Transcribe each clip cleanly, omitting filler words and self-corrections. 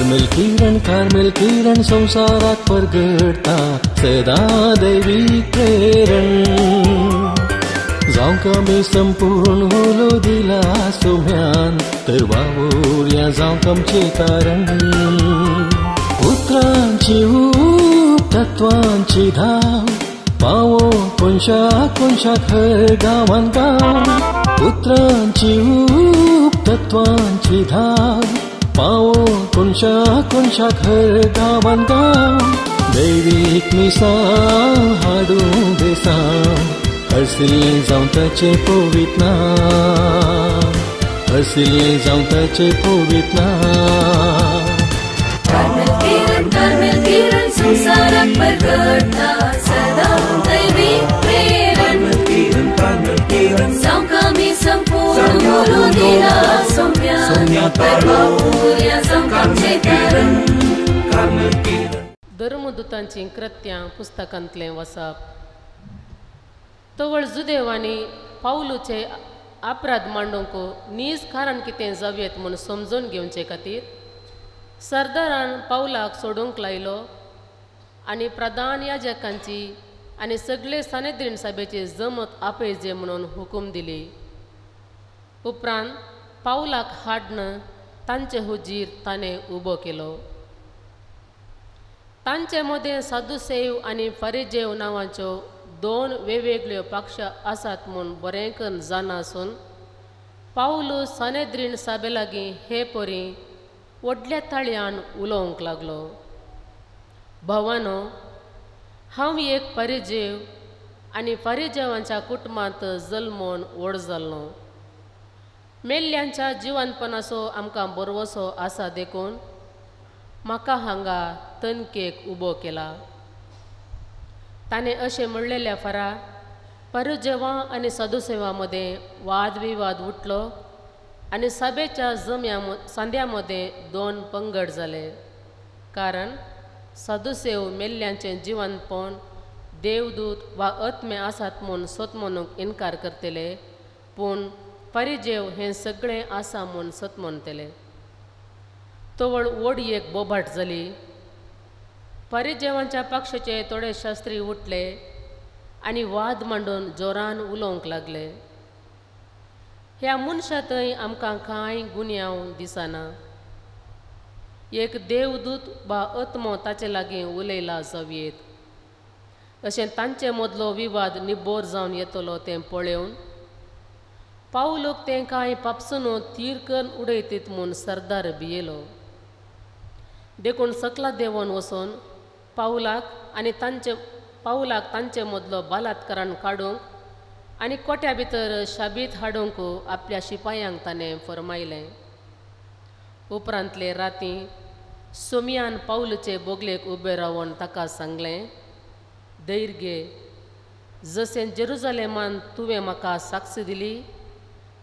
Carmel किरण, Carmel किरण संवसाराक परगडटा सदां दैवीक प्रेरण। जावंक आमी संपूर्ण उलो दिला सोम्यान तर वावुरया जावंक आमचें कारण। उतरांची ऊब तत्वांची धाव पावो कोनशा कोनशाक हर गांवान गांव। उतरांची ऊब तत्वांची धाव पावो कोनशा कोनशाक हर गांवान गांव। दैवीक मिसां हाडूं बेसांव हरसिल्लें जावं ताचें पवित्र नांव, हरसिल्लें जावं ताचें पवित्र नांव। कार्मेल किरण, कार्मेल किरण संवसाराक परगडटा सदां दैवीक प्रेरण। जावंक आमी संपूर्ण उलो दिला सोम्यान तर वावुरया जावंक आमचें कारण। धर्मदूतांचीं कृत्यां पुस्तकांतलें वसप. तवळ जुदेवांनी पावलूचे अपराध मांडूंक नीज कारण कितें जावयेत म्हूण समजून घेवचे खातीर सरदारान पावलाक सोडूंक लायलो आनी प्रधान याजकांची आनी सगळे सानेद्रीन सभेची जमत आपयजे म्हणून हुकूम दिली. उपरांत पावलाक हाडन तांचे हुजीर ताणें उबो केलो. तांचे मदें सादुसेव आनी फरिजेव नांवाच्यो दोन वेगवेगळ्यो पक्ष आसात म्हूण बरें करून जाणा आसून पावलू सानेद्रीन सभे लागीं हे परी व्हडल्या ताळयान उलोवंक लागलो. भावानो, हांव एक परिजेव आनी परिजेवांच्या कुटुंबांत जल्मोन व्हड जाल्लो. मेल्ल्यांच्या जिवनपणाचो आमकां बरवसो आसा देखून म्हाका हांगा तनकेक उबो केला. ताणें अशें म्हणलेल्या फरा परिजेवां आनी सदुसेवां मदें वादविवाद उठलो आनी सभेच्या जम्या सांद्या मदें दोन पंगड जाले. कारण सदुसेव मेल्ल्यांचें जिवनपण देवदूत वा आत्मे आसात म्हूण सत म्हणूंक इनकार करतले, पूण परिजेव हें सगळें आसा म्हूण सत म्हणटले. तवळ व्हड एक बोबाट जाली. परिजेवांच्या पक्षाचे थोडे शास्त्री उठले आनी वाद मांडून जोरान उलोवंक लागले. ह्या मनशा थंय आमकां कांय गुन्यांव दिसना. एक देवदूत वा आत्मो ताचे लागीं उलयला जावयेत अशें तांचे मदलो विवाद निबोर जावन येतलो तें पळोवन पावलूक तें कांय पापसून तीर करून उडयतीत म्हूण सरदार भियेलो. देखून सकला देंवोन वचून पावलाक आनी तांचे मदलो बलात्कारान काडूंक आनी कोट्या भितर शाबीत हाडूंक आपल्या शिपायांक ताणें फरमायलें. उपरांतले राती सोमियान पावलूचे बोगलेक उबें रावन ताका सांगलें, धैर्य घे, जशें जेरुजलेमान तुवें म्हाका साक्ष दिली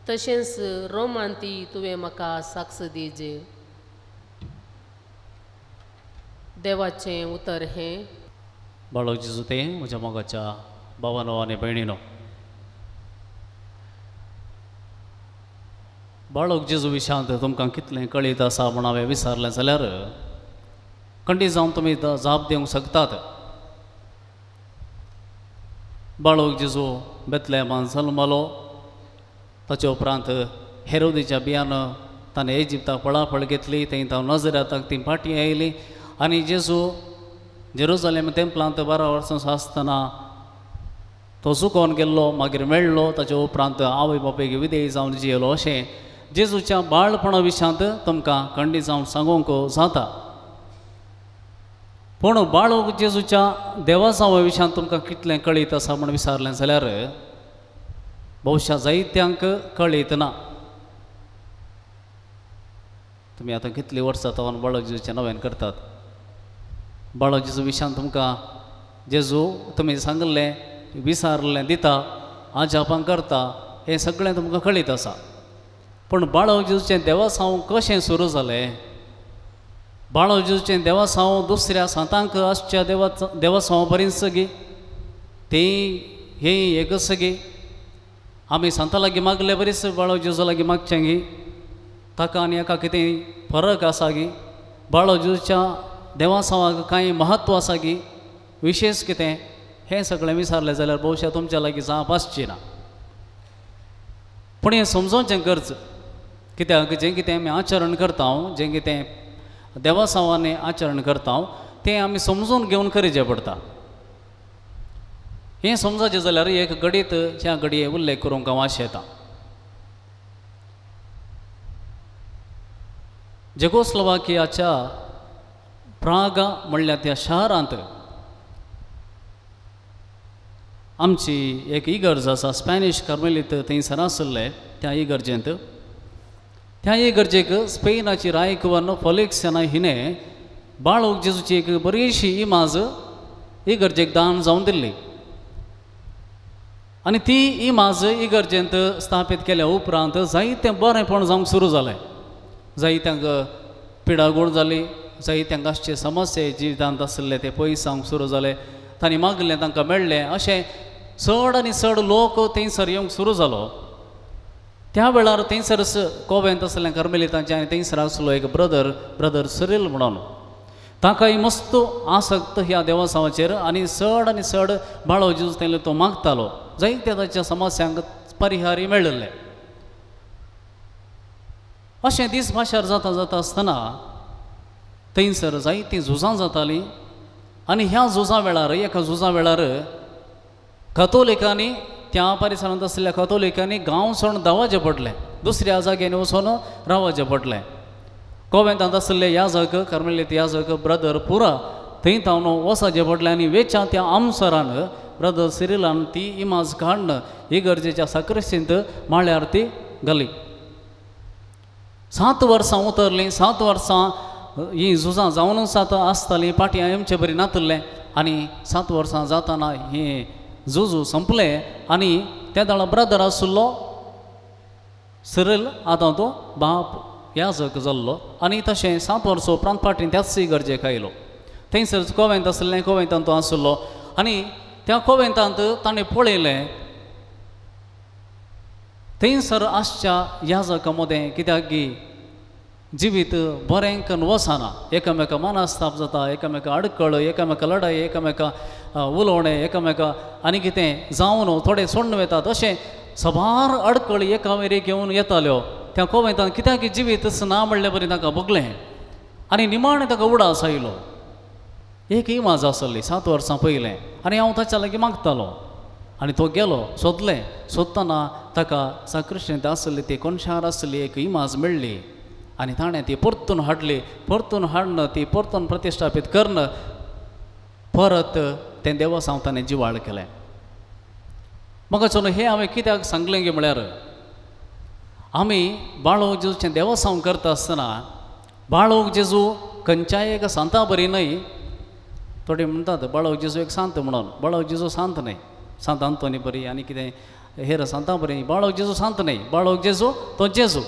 तशेंच रोमान ती तुवें म्हाका साक्ष दिजे. देवाचें उतर हें. बाळक जेजू तें म्हज्या मोगाच्या भावानो आनी भयणीनो, बाळक जेजू विशांत तुमकां कितलें कळीत आसा म्हूण हांवें विचारलें जाल्यार खंडीत जावन तुमी जाप दिवंक शकतात. बाळक जेजू बेतलेमान जल्मलो. ताचे उपरांत हेरोदीच्या बियान ताणें इजिप्ताक पळापळ घेतली. थंय तांव नजरेताक ती फाटीं आयली आनी जेजू जेरुजलेम तेंपलांत 12 वर्सां आसतना तो चुकोन गेल्लो, मागीर मेळ्ळो. ताचे उपरांत आवय बापायक विधेय जावन जियेलो. अशें जेजूच्या बाळपणा विशांत तुमकां खंडीत जावन सांगूंक जाता. पूण बाळक जेजूच्या देवासांवा विशांत तुमकां कितलें कळीत आसा म्हूण विचारलें जाल्यार बहुशा जायत्यांक कळीत ना. तुमी आतां कितलीं वर्सां तावन बाळक जेजूचें नवेन करतात. बाळक जेजू विशांत तुमकां जेजू तुमी सांगिल्लें विचारलें दिता, आजापां करता, हें सगळें तुमकां कळीत आसा. पूण बाळक जेजूचें देवासांव कशें सुरू जालें, बाळक जेजूचें देवासांव दुसऱ्या सांतांक आसच्या देवासांव बरीच गी ती हें एकच गी आमी सांता लागीं मागले बरीच बाळक जेजू लागीं मागचें गी, ताका आनी एका कितें फरक आसा गी, बाळो जेजूच्या देवासांवाक कांय म्हत्व आसा की विशेश कितें हें सगळें विचारलें जाल्यार बहुशा तुमच्या लागीं जाप आसची ना. पूण हें समजोवचें गरज कित्याक जें कितें आमी आचरण करता, जें कितें देवासांवांनी आचरण करता तें आमी समजून घेवन करचें पडटा. हें समजाचें जाल्यार एक घडीत ह्या घडये उल्लेख करूंक हांव आशेतां. जेकोस्लोवाकियाच्या प्रागा म्हणल्यार त्या शारांत आमची एक इगर्ज आसा, स्पॅनिश कार्मेलीत थंयसर आशिल्ले त्या इगर्जेंत. त्या इगर्जेक स्पेनाची रायकुवन फोलिक्सना हिणें बाळूक जेजूची एक बरीशी इमाज इगर्जेक दान जावन दिल्ली आनी ती इमाज इगर्जेंत स्थापीत केल्या उपरांत जायतें बरेंपण जावंक सुरू जालें. जायत्यांक पिडागोड जाली, जायत्यांक आसचे समस्या जिवितांत आशिल्ले ते पयस जावंक सुरू जाले, तांणी मागलें तांकां मेळ्ळें. अशें चड आनी चड लोक थंयसर येवंक सुरू जालो. त्या वेळार थंयसर कोवेंत आसलें कार्मेलितांचें आनी थंयसर आसलो एक ब्रदर, ब्रदर सिरील म्हणून. ताकाय मस्त आसक्त ह्या देवसांवाचेर आनी चड आनी चड बाळो जेजू थंय तो मागतालो. जायत्या ताच्या समस्यांक परिहारय मेळिल्ले. अशें दीस भाशार जाता जाता आसतना थंयसर जायतीं झुजां जातालीं आनी ह्या झुजां वेळार एका झुजां वेळार कथोलिकांनी त्या परिसरांत आशिल्ल्या कथोलिकांनी गांव सोडून धांवचें पडलें, दुसऱ्या जाग्यांनी वचून रावचें पडलें. कोवेंतांत आशिल्ले याजक, कार्मेलीत याजक ब्रदर पुरा थंय तावन वचचें पडलें आनी वेच्या त्या आमसरान ब्रदर सिरिलान ती इमाज काडून इगर्जेच्या साक्रिस्तींत माळ्यार ती घाली. 7 वर्सां उतरलीं, 7 वर्सां हीं झुजां जावनूच आतां आसतालीं, पाटी आमचे बरी नातलें आनी 7 वर्सां जाताना हें झुजू संपलें आनी त्या दाळा ब्रदर आशिल्लो सिरील आतां तो बाप याजक जाल्लो आनी तशें 7 वर्सां उपरांत फाटीं त्याच इगर्जेक आयलो. थंयसर कोवेंत आशिल्लें, कोवेंतांत तो आशिल्लो आनी त्या कोवेंतांत ताणें पळयलें थंयसर आसच्या याजका मदें कित्याक की जिवीत बरें करून वचना, एकामेका मनस्ताप जाता, एकामेका अडकळ, एकामेका लडाय, एकामेका उलोवणें, एकामेका आनी कितें जावन थोडे सोडून वतात, अशें सबार अडकळी एकामेरी घेवन येताल्यो. त्या कोवेंतांत कित्याक जिवीत ना म्हणले बरी ताका भोगलें आनी निमाणें ताका उडास आयलो. एक इमाज आसली 7 वर्सां पयलें आनी हांव ताच्या लागीं मागतालो आनी तो गेलो, सोदलें, सोदतना ताका साक्रिस्तींत आसली ती कोनशार आसली एक इमाज मेळ्ळी आनी ताणें ती परतून हाडली. परतून हाडून ती परतून प्रतिश्ठापीत करून परत तें देवसांव ताणें जिवाळ केलें. म्हाका चलो हें हांवें कित्याक सांगलें की म्हळ्यार आमी बाळो जेजूचें देवसांव करता आसतना बाळोक जेजू खंयच्याय एका सांता बरी न्हय. थोडे म्हणटात बाळो जेजू एक सांत म्हणून, बाळो जेजू सांत न्हय, सांत आंतोनी बरी आनी कितें हेर सांतां बरी, बाळोक जेजू सांत न्हय. बाळोक जेजू तो जेजू,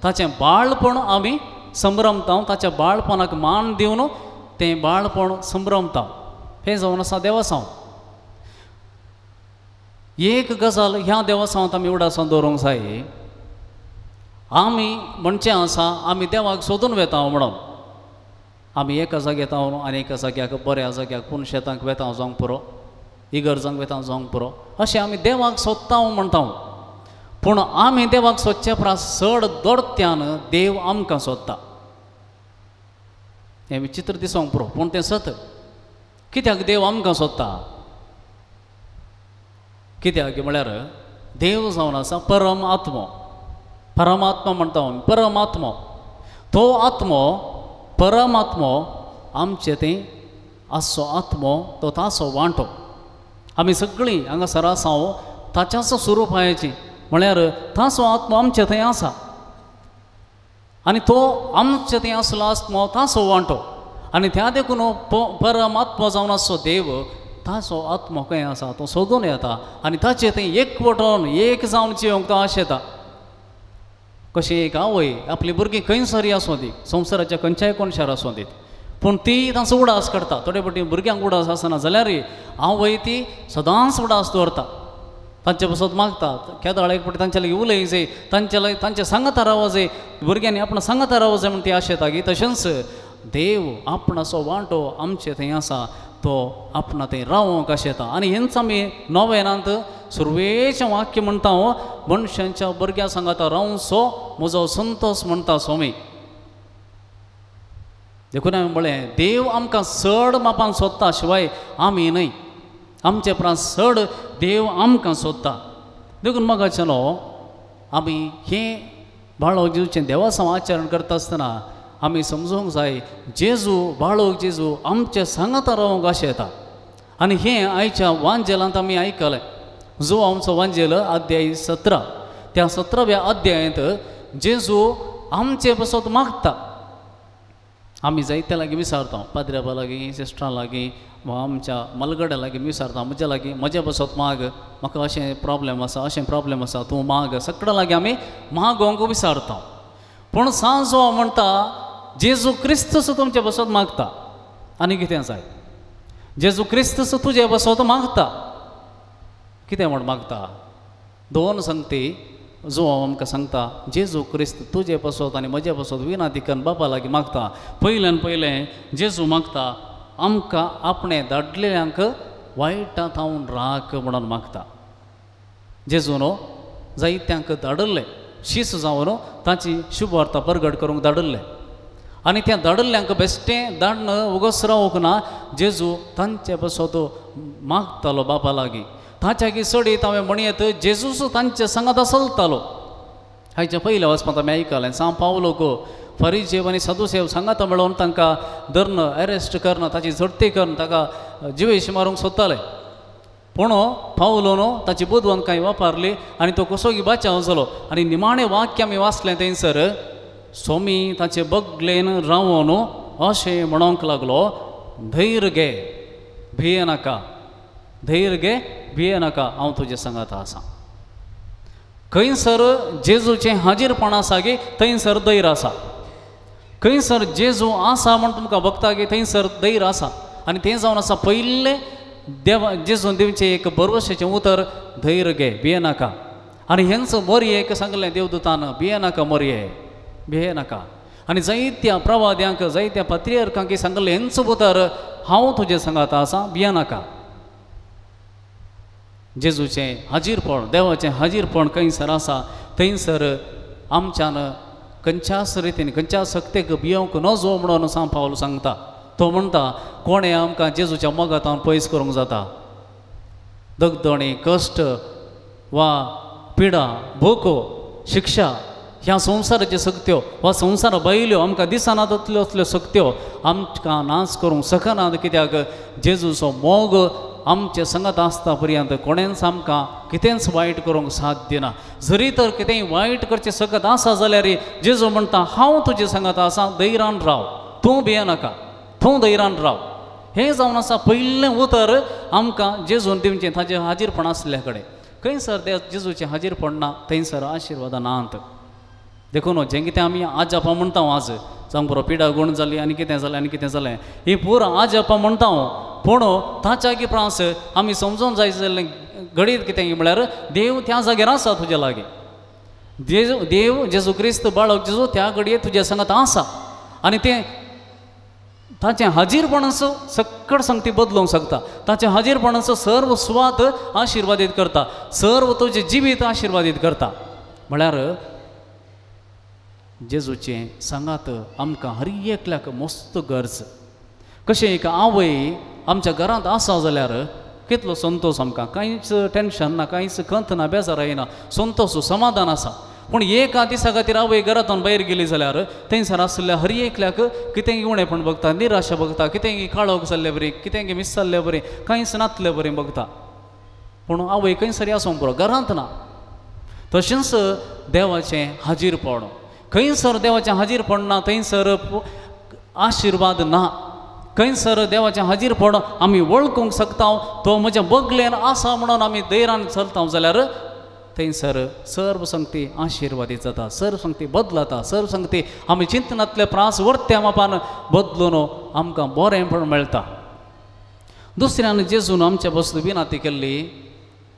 ताचें बाळपण आमी संभ्रमता, ताच्या बाळपणाक मान दिवन तें बाळपण संभ्रमता. हें जावन आसा देवसांव. एक गजाल ह्या देवसांवांत आमी उडासांत दवरूंक जाय, आमी म्हणचें आसा आमी देवाक सोदून वेता म्हणून आमी एका जाग्यार येता आनी एका जाग्याक बऱ्या जाग्याक पूण शेतांक वेता जावंक पुरो, इगर्जांक वेता जावंक पुरो, अशें आमी देवाक सोदता म्हणटा. पूण आमी देवाक सोदचे परस चड दोडत्यान देव आमकां सोदता. हें विचित्र दिसोंक पुरो पूण तें सत. कित्याक देव आमकां सोदता? कित्याक म्हळ्यार देव जावन आसा परम आत्मो, परमात्मा म्हणटा आमी, परमात्मो. तो आत्मो परमात्मो आमचे थंय आसचो आत्मो तो ताचो वांटो. आमी सगळीं हांगासर आसा ताच्याच स्वरुपाची, म्हळ्यार ताचो आत्मो आमचे थंय आसा आनी तो आमचे थंय आसलो आत्मो ताचो वांटो आनी त्या देखून परमात्मो जावन आसचो देव ताचो आत्मो खंय आसा तो सोदून येता आनी ताचे थंय एकवटून एक जावन जिवंक तो आशेता. कशें एक आवय आपली भुरगीं खंयसरय आसूं दी, संवसाराच्या खंयच्याय कोनशार आसूं दी, पूण ती तांचो उडास करता. थोडे फावटी भुरग्यांक उडास आसना जाल्यार आवय ती सदांच उडास दवरता, तांचे पासत मागता, केदाळ एक फावटी तांच्या लागीं उलय जाय, तांच्या लागीं तांचे सांगाता रावो जाय, भुरग्यांनी आपणा सांगाता रावो जाय म्हण ती आशेता की. तशेंच देव आपणाचो वांटो आमचे थंय आसा तो आपणा थंय रावोंक आशेता. आनी हेंच आमी नोवेनांत सुरवेचें वाक्य म्हणटा, मनशांच्या भुरग्यां सांगाता रावचो म्हजो संतोश म्हणटा स्वामी. देखून हांवें म्हळें देव आमकां चड मापान सोदता शिवाय आमी न्हय, आमचे परस चड देव आमकां सोदता. देखून मोगाचेलो आमी हें बाळक जेजूचें देवासांव आचरण करता आसतना आमी समजूंक जाय जेजू बाळक जेजू आमचे सांगाता रावंक आशेता. आनी हें आयच्या वांजेलांत आमी आयकलें. जो आमचो वांजेल अध्याय 17, त्या 17व्या अध्यायांत जेजू आमचे पासत मागता. आमी जायत्या लागीं विचारता, पाद्र्याबा लागीं, सिस्टरां लागीं वा आमच्या मलगड्या लागीं विचारता, म्हज्या लागीं म्हज्या पासत माग, म्हाका अशें प्रॉब्लेम आसा, अशें प्रॉब्लेम आसा, तूं माग. सगळ्या लागीं आमी मागोवंक विचारता. पूण सांजो म्हणटा जेजू क्रिस्तूच तुमचे पासत मागता. आनी कितें जाय? जेजू क्रिस्तूच तुजे पासत मागता. कितें म्हण मागता? दोन संगती जो आमकां सांगता, जेजू क्रिस्त तुजे पासत आनी म्हजे पासत विनाती करून बापा लागीं मागता. पयल्यान पयलें जेजू मागता आमकां आपणें धाडलेल्यांक वायटा थावन राख म्हणून मागता. जेजू न्हू जायत्यांक धाडिल्लें, शीस जावन ताची शुभवार्ता परगट करूंक धाडिल्लें. आनी त्या धाडिल्ल्यांक बेश्टें धाडन उगोस रावूंक ना, जेजू तांचे पासत मागतालो बापा लागीं. ताच्या चडीत हांवें म्हणयेत जेजूस तांचे सांगाता चलतालो. हाच्या पयल्या वचपांत आमी आयकलें सांव पावलोक फरिजेव आनी सदुसेव सांगाता मेळोवन तांकां धरून अरेस्ट करून ताची झडती करून ताका जिवेश मारूंक सोदताले. पूण पावलो न्हू ताची बुदवंतकाय वापरली आनी तो कसोगी बाचाव जालो. आनी निमाणें वाक्य आमी वाचलें थंयसर स्वामी ताचे बगलेन रावोन अशें म्हणोंक लागलो, धैर्य घे, भिये नाका, धैर्य घे, भिये नाका, हांव तुजे सांगाता आसा. खंयसर जेजूचें हाजीरपण आसा गे थंयसर धैर्य आसा. खंयसर जेजू आसा म्हण तुमकां बघता गे थंयसर धैर्य आसा. आनी तें जावन आसा पयलें देवा जेजून दिवचें एक भरवशाचें उतर, धैर्य घे, भिये नाका. आनी हेंच मोरयेक सांगलें देवदूतान, भिये नाका मोरये, भिये नाका. आनी जायत्या प्रवाद्यांक जायत्या पत्रियर्कांक सांगलें हेंच उतर, हांव तुजें सांगाता आसा, भिये नाका. जेजूचें हाजीरपण, देवाचें हाजीरपण खंयसर आसा थंयसर आमच्यान खंयच्याच रितीन खंयच्या शक्तेक भियोवंक नजो म्हणून सांव पावल सांगता. तो म्हणटा कोणें आमकां जेजूच्या मोगांत पयस करूंक जाता? दगदणी, कश्ट वा पिडा, भूक, शिक्षा ह्या संवसाराच्यो शक्त्यो वा संवसारा भायल्यो आमकां दिसना तसल्यो असल्यो शक्त्यो आमकां नाश करूंक शकनात. कित्याक जेजूचो मोग आमचे संगत आसता पर्यंत कोणेंच आमकां कितेंच वायट करूंक साध्य ना. जरी तर कितेंय वायट करचें शकत आसा जाल्यार जेजू म्हणटा हांव तुजे संगत आसा, धैर्यान राव, तूं भियेनाका, तूं धैर्यान राव. हें जावन आसा पयलें उतर आमकां जेजून दिवचें ताचें हाजीरपण आसल्या कडेन. खंयसर ते जेजूचें हाजीरपण ना थंयसर आशिर्वादां नात. देखून जें कितें आमी आजापां म्हणटा आज जावं बरो पिडा गूण जाली आनी कितें जालें आनी कितें जालें ही पुरो आजापां म्हणटा. पूण ताच्या प्रास आमी समजून जाय जाल्लें घडीत कितें म्हळ्यार देव त्या जाग्यार आसा तुज्या लागीं. देव जेजू क्रिस्त बाळक जेजू त्या घडये तुज्या सांगात आसा आनी तें ताचें हाजीरपणाचो सक्कड संगती बदलूंक शकता. ताचें हाजीरपणाचो सर्व सुवात आशिर्वादीत करता, सर्व तुजें जिवीत आशिर्वादीत करता. म्हळ्यार जेजूचें सांगात आमकां हर एकल्याक मस्त गरज. कशें एक आवय आमच्या घरांत आसा जाल्यार कितलो संतोश आमकां, कांयच टेंशन ना, कांयच खंत ना, बेजार येना, संतोश समाधान आसा. पूण एका दिसा खातीर आवय घरांतल्यान भायर गेली जाल्यार थंयसर आशिल्ल्या हर एकल्याक कितेंय उणेपण बघता, निराशा बघता, कितेंय काळोख जाल्ले बरी, कितेंय मिस जाल्ले बरी, कांयच नातले बरी बघता. पूण आवय खंयसर आसूंक पुरो, घरांत ना. तशेंच देवाचें हाजीरपण, खंयसर देवाचें हाजीरपण ना थंयसर आशिर्वाद ना. खंयसर देवाचें हाजीरपण आमी वळखूंक शकता, तो म्हज्या बगलेन आसा म्हणून आमी धैर्यान चलता जाल्यार थंयसर सर्व संगती आशिर्वादीत जाता, सर्व संगती बदलता, सर्व संगती आमी चिंतनांतले प्रास वर्त्या मापान बदलून आमकां बरेंपण मेळटा. दुसऱ्यान जेजून आमच्या बसून विनंती केल्ली.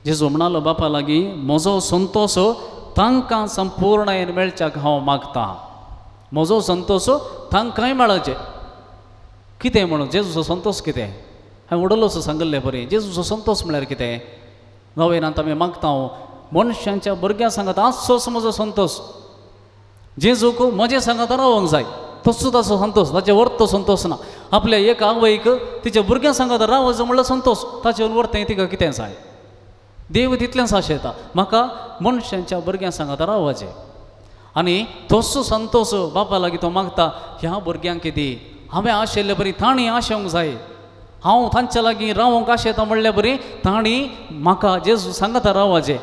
जेजू म्हणालो बापा लागीं, म्हजो संतोश तांकां संपूर्णायेन मेळच्याक हांव मागता, म्हजो संतोश तांकांय मेळचे. कितें म्हणून जेजूचो संतोश कितें हांवें उडलोसो सांगिल्लें बरें जेजूचो संतोश म्हळ्यार कितें नवेनांत आमी मागता मनशांच्या भुरग्यां सांगात आसचोच म्हजो संतोश जेजूक म्हजें सांगात रावंक जाय तसो ताचो संतोश ताचे वर्तो संतोश ना आपल्या एक आवयक तिच्या भुरग्यां सांगात रावचो म्हणल्यार संतोश ताचे वर्तें तिका कितें जाय देव तितलेंच आशेता म्हाका मनशांच्या भुरग्यां सांगात रावचें आनी तसो संतोश बापा लागीं तो मागता ह्या भुरग्यांक दी हांवें आशिल्ले बरी तांणी आशेवंक जाय हांव तांच्या लागीं रावंक आशेता म्हणल्यार बरी तांणी म्हाका जेजू सांगाता रावचें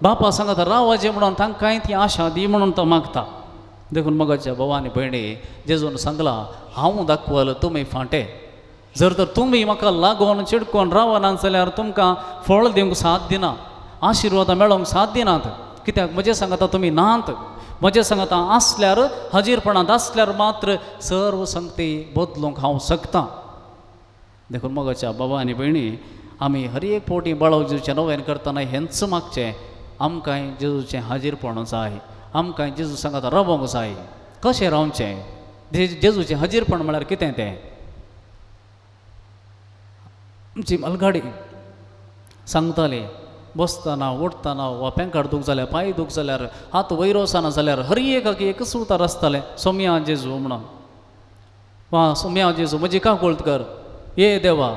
बापा सांगाता रावचें म्हणून तांकांय ती आशा दी म्हणून तो मागता देखून मगाच्या भावा आनी भयणी जेजून सांगलां हांव दाखवल तुमी फांटे जर तर तुमी म्हाका लागून चिडकोन रावना जाल्यार तुमकां फळ दिवंक साथ दिना आशिर्वादां मेळोवंक साथ दिनात कित्याक म्हजें सांगाता तुमी नात म्हजें सांगाता आसल्यार हाजीरपणांत आसल्यार मात्र सर्व संगती बदलूंक हांव शकता देखून मगाच्या बाबा आनी भयणी आमी हर एक फावटी बाळव जेजूचें नवेन करतना हेंच मागचें आमकांय जेजूचें हाजीरपण जाय आमकां जेजू सांगाता रावोंक जाय कशें रावचें जेजूचें हाजीरपण म्हळ्यार कितें तें आमची मालगाडी सांगताली बसतना उठतना वा पेंकाड दूख जाल्यार पांय दूख जाल्यार हात वयर वचना जाल्यार हर एकाक एकच उतार आसतालें सोम्या जेजू म्हणून वा सोम्या जेजू म्हजी काकुळट कर ये देवा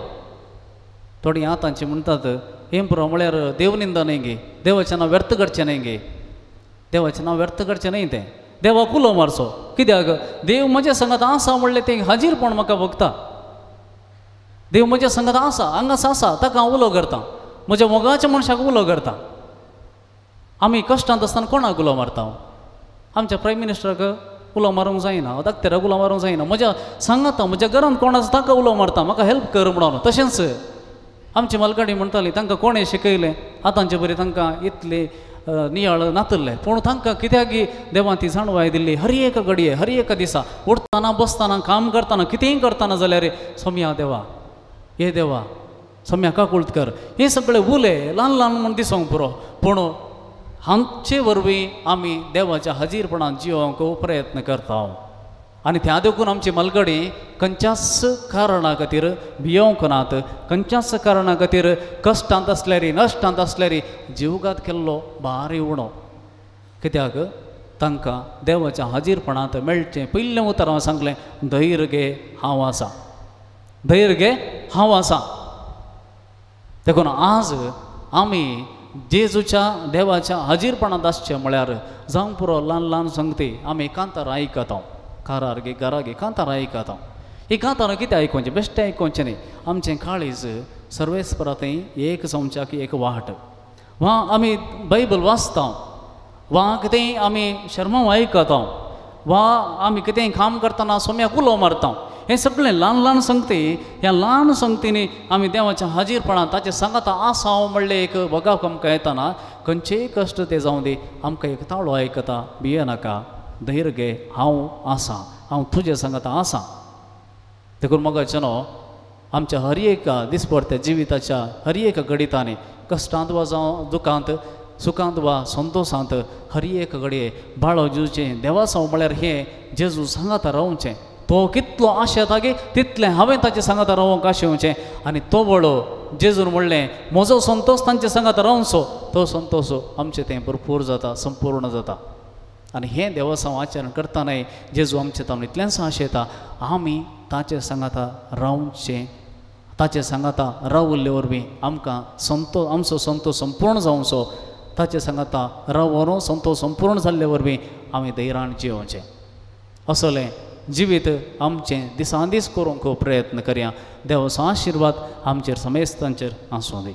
थोडीं आतांची म्हणटात हें पुरो म्हळ्यार देवनिंदा न्हय गे देवाचें नांव व्यर्थ करचें न्हय गे देवाचें नांव व्यर्थ करचें न्हय तें देवाक उलो मारचो कित्याक देव म्हज्या सांगात आसा म्हणलें तें हाजीरपण म्हाका भोगता देव म्हज्या सांगात आसा हांगाच आसा ताका हांव उलो करता म्हज्या मोगाच्या मनशाक उलो करता आमी कश्टांत आसतना कोणाक उलो मारता आमच्या प्रायम मिनिस्टराक उलो मारूंक जायना डाक्टराक उलो मारूंक जायना म्हज्या सांगाता म्हज्या घरांत कोण आसा ताका उलो मारता म्हाका हेल्प कर म्हणून तशेंच आमची मालगाडी म्हणटाली तांकां कोणें शिकयलें आतांचे बरें तांकां इतले नियाळ नातल्ले पूण तांकां कित्याक देवान ती जाणवाय दिल्ली हर एक घडये हर एका दिसा उठतना बसतना काम करतना कितेंय करतना जाल्यार सोम्या देवा हे देवा सोम्या काकुळट कर हे सगळे उले ल्हान ल्हान म्हूण दिसोंक पुरो पूण हांचे वरवीं आमी देवाच्या हाजीरपणान जिवोवंक प्रयत्न करता आनी त्या देखून आमची मालगडी खंयच्याच कारणा खातीर भियोवंक नात खंयच्याच कारणा खातीर कश्टांत आसल्यार नश्टांत आसल्यार जिवघात केल्लो भारी उणो कित्याक तांकां देवाच्या हाजीरपणांत मेळचें पयलें उतर हांवें सांगलें धैर्य घे हांव आसा धैर्य घे हांव आसा देखून आज आमी जेजूच्या देवाच्या हाजीरपणांत आसचें म्हळ्यार जावंक पुरो ल्हान ल्हान संगती आमी कांतार आयकता कारार गे घरा गे कांतार आयकता ही कांतारां कितें आयकोवचें बेश्टें आयकोवचें न्ही आमचें काळीज सर्वेस्परा थंय एक जावच्याक एक वाट वा आमी बायबल वाचता वा कितेंय आमी शर्मांव आयकता वा आमी कितेंय काम करतना सोम्याक उलो मारता हें सगळें ल्हान ल्हान संगती ह्या ल्हान संगतींनी आमी देवाच्या हाजीरपणान ताचें सांगाता आसा म्हणलें एक भोगाक आमकां येतना खंयचेय कश्ट ते जावं दी आमकां एक ताळो आयकता भियेनाका धैर्य घे हांव आसा हांव तुजें सांगाता आसा देखून मोगाचे न्हू आमच्या हर एका दिसपडत्या जिविताच्या हर एका घडितांनी कश्टांत वा जावं दुखांत सुखांत वा संतोशांत हर एक घडये बाळो जेजूचें देवासांव म्हळ्यार हें जेजू सांगाता रावचें तो कितलो आशेता गे तितलें हांवें ताचें सांगाता रावंक आशेवचें आनी तो बळो जेजून म्हणलें म्हजो संतोश तांचे सांगाता रावचो तो संतोश आमचें तें भरपूर जाता संपूर्ण जाता आनी हें देवसांव आचरण करतनाय जेजू आमचें ताणून इतलेंच आशेता आमी ताचे सांगाता रावचें ताचे सांगाता रावल्ले वरवीं आमकां संतोश आमचो संतोश संपूर्ण जावचो ताचे सांगाता रावोन संतोश संपूर्ण जाल्ले वरवीं आमी धैर्यान जियोवचें असलें जिवीत आमचें दिसान दीस करूंक प्रयत्न करया देवाचो आशिर्वाद आमचेर समेस्तांचेर आसूं दी.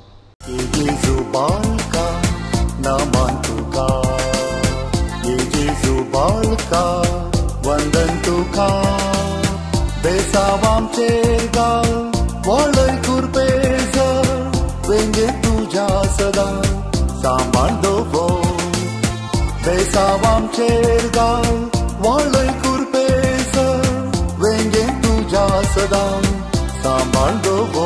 वंदन तुका बेसावामचेर गाल वळय कुरपेज वेंगे तुज्या सदां सांबाळ दवर बेसावामचेर गाल वळय कुरपेज वेंगे तुज्या सदां सांबाळ दवर.